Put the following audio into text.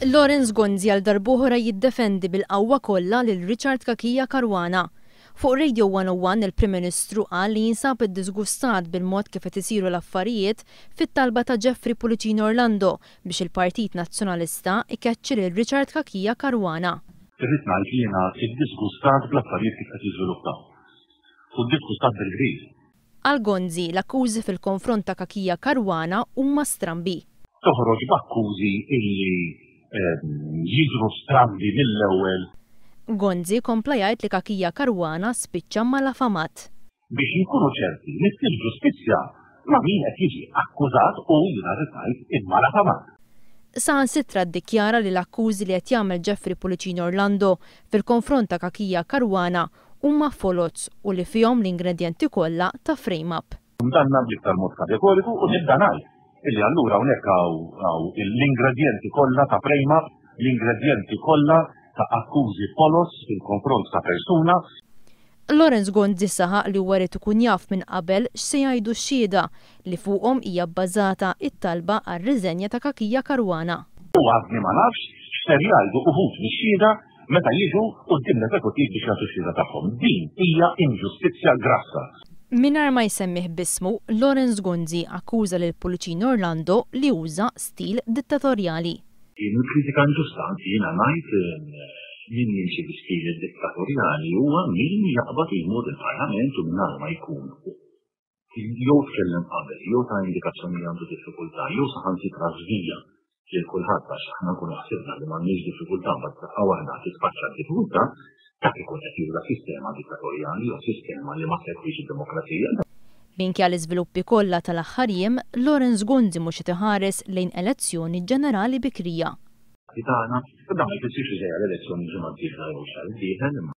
Lawrence Gonzi għal darb'oħra jiddefendi bil-qawwa kollha lil Richard Cachia Caruana. Fuq Radio 101 il-Prim Ministru qal li jinsab iddiżgustat bil-mod kif qed isiru l-affarijiet fit-talba ta' Jeffrey Pullicino Orlando biex il-Partit Nazzjonalista jkeċċi lil Richard Cachia Caruana. Irrid ngħid li jiena iddiżgustat bl-affarijiet kif qed jiżviluppaw. U ddisgustat bil-kbir. Għal Gonzi, l-akkużi fil-konfront ta' Cachia Caruana huma strambi. Toħroġ b'akkużi illi jidhru strambi mill-ewwel. Gonzi kompla jgħid li Cachia Caruana spiċċa malafamat. Biex inkunu ċerti li ssir ġustizzja ma' min qed jiġi akkużat u, jiena rrid ngħid, immalafamat. Saħansitra ddikjara li l-akkużi li qed jagħmel Jeffrey Pullicino Orlando fil-konfront ta' Cachia Caruana huma foloz u li fihom l-ingredjenti kollha ta' frame-up. Kundanna bl-iktar mod kategoriku u nibda ngħid illi allura hawnhekk hawn l-ingredjenti kollha ta' frame-up, l-ingredjenti kollha ta' akkużi foloz fil-konfront ta' persuna. Lawrence Gonzi saħaq li huwa ried ikun jaf minn qabel x'se jgħidu x-xhieda li fuqhom hija bbażata t-talba għar-riżenja ta' Cachia Caruana. U għadni ma nafx x'ser jgħidu uħud mix-xhieda meta jiġu quddiem l-Eżekuttiv biex jagħtu x-xhieda tagħhom. Din hija inġustizzja grassa. Mingħajr ma jsemmih b'ismu, Lawrence Gonzi akkuża lil Pullicino Orlando li uża stil dittatorjali. Din hi kritika inġusta, anzi jiena ngħid min jimxi bi stil dittatorjali huwa min jaqbad u jmur il-Parlament u mingħajr ma jkun jew tkellem qabel, jew ta indikazzjoni li għandu diffikultà, jew saħansitra żvija lil kulħadd għax aħna nkunu ħsibna li m'għandniex diffikultà mbagħad f'daqqa waħda titfaċċa d-diffikultà, dak ikun qed juża sistema dittatorjali jew sistema li ma segwix id-demokrazija. Minkejja l-iżviluppi kollha tal-aħħar jiem, Lawrence Gonzi mhux qed iħares lejn elezzjoni ġenerali bikrija. Tagħna, u dan ma jfissirx li ġejja l-elezzjoni l-ġimgħa d-dieħla jew x-xahar id-dieħel, imma.